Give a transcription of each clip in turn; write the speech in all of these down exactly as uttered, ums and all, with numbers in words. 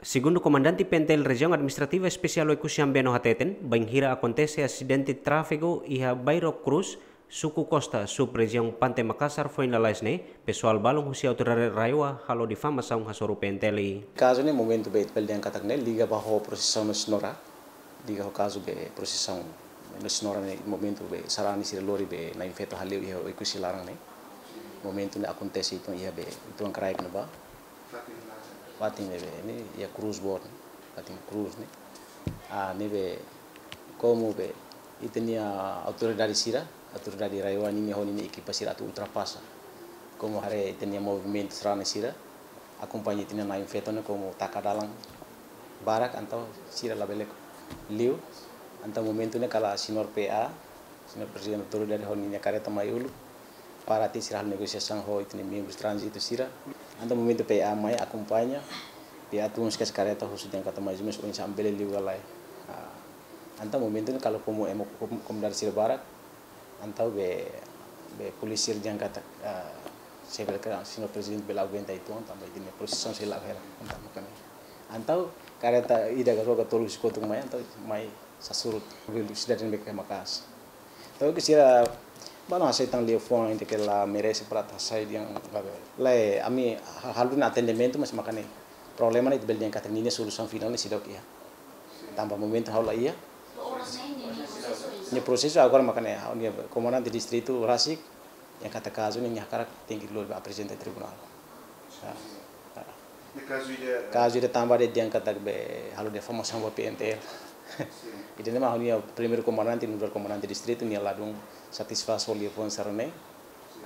Segundu Komandante P N T L Rejiaun Administrativa Espesiál Oekusi Ambeno hateten, bainhira akontese asidente tráfegu iha Bairro Cruz, Suku Costa, sub-rejiaun Pante Makassar foin lalais ne'e, pesoál balun husi autoridade RAEOA halo difamasaun hasoru P N T L. Kazu ne'e momentu be bele dehan katak ne'e liga ba ho prosesaun Nossa Senhora, liga ho kazu be prosesaun Nossa Senhora ne'e momentu be sarani sira lori be Na'in Feto hale'u iha Oekusi laran ne'e. Momentu ne'e akontese uitoan iha be uitoan kraik ne'ebá. Fatin ne'ebé ne'e iha Cruz boot ne'e, fatin Cruz ne'e. Ah, ne'ebé komu be ita-nia autoridade sira, autoridade RAEOA ninia ho ninia ekipa sira atu ultrapasa. Komu haree ita-nia movimentu sarani sira, akompaña ita-nia Na'in Feto ne'e komu taka dalan barak entaun sira labele liu. Entaun momentu ne'e kala señór P A, señór Prezidente Autoridade ho ninia kareta mai uluk, para atu sira halo negosiasaun ho ita-nia membru tránzitu sira. Entaun momentu P A mai akompaña, P A tun husi kareta husu dehan katak mais ou menus oinsá ami bele liu ka lae. Ah, entaun momentu ne'e kala komu ema kom-, komunidade sira barak, entaun be, be polísia dehan katak, ah, se bele ka, señór Prezidente bele aguenta uitoan, tanba ita-nia prosesaun sei la'o hela, entaun maka'as. Entaun kareta ida ka rua ka tolu husi kotuk mai, entaun mai sasurut, velosidade ne'ebé ke maka'as. Entaun ke sira balun hasai tan liafuan ida ke la merese para atu hasai dehan lae. Lae, ami ha-, halo atendimentu, mas maka'as ne'e problema ne'e ita bele dehan katak ninia solusaun finál ne'e seidauk iha. Tanba momentu ha'u la iha. Nia prosesu agora maka'as ne'e, ha'u-nia komandante distritu rasik, dehan katak kazu ne'e nia hakarak tenke lori ba aprezenta tribunál. Ah, ah. Ne'e kazu ida, kazu ida tanba dehan katak be halo difamasaun ba P N T L. Sin. Ida-ne'e mak ha'u-nia primeiru komandante, nu'udar komandante distritu, nia ladún satisfás ho liafuan sarani ne'e.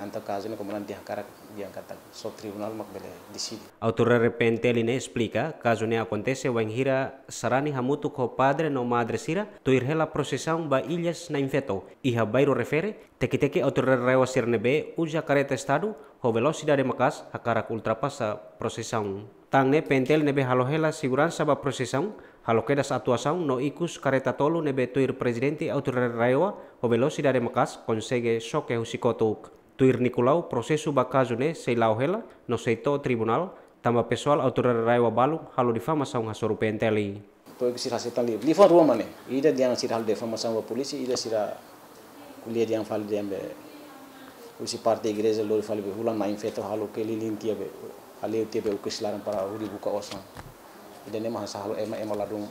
Entaun kazu ne'e komandante dehan karak, dehan katak só tribunál mak bele deside. Autoridade P N T L ne'e esplika, kazu ne'e akontese bainhira sarani hamutuk ho padre no madre sira, tuir hela prosesaun ba Ilhas Na'in Feto, iha bairru refere, teki-teki autoridade RAEOA sira ne'ebé uza kareta estadu ho velosidade maka'as hakarak ultrapasa prosesaun. Tan ne'e P N T L ne'ebé halo hela seguransa ba prosesaun, halo kedas atuasaun no ikus kareta tolu ne'ebé tuir Prezidente Autoridade RAEOA ho velosidade maka'as konsege xoke husi kotuk. Tuir Nicolau, prosesu ba kazu ne'e sei la'o hela no sei to'o tribunál, tanba pesoál autoridade RAEOA balun halo difamasaun hasoru P N T L. Entaun ke sira hasai tan li-, liafuan rua mak ne'e. Ida dehan sira halo difamasaun ba polísia, ida sira ko'alia dehan fali dehan be husi parte igreja lori fali be hulan Na'in Feto halo keliling tiha be, hale'u tiha be Oekusi laran para hodi buka osan. Ida-ne'e mak hanesan halo ema, ema ladún,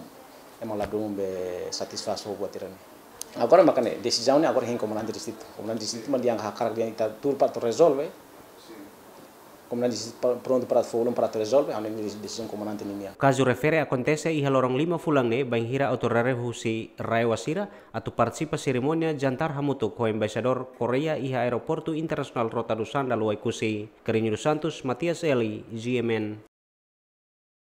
ema ladún be satisfás ho buat sira-ne'e. Agora maka'as ne'e, desizaun ne'e agora hein komandante distritu. Komandante distritu mak dehan hakarak dehan ita tuur para atu rezolve. Komandante distritu pa-, prontu para fó ulun para atu rezolve, ha'u-nia desizaun komandante ninia. Kazu refere akontese iha loron lima fulan ne'e, bainhira autoridade husi RAEOA sira atu partisipa serimónia jantar hamutuk ho Embaixadór Koreia iha Aeroportu Internasionál Rota do Sândalo Oekusi. Carreño dos Santos, Matias Eli, G M N.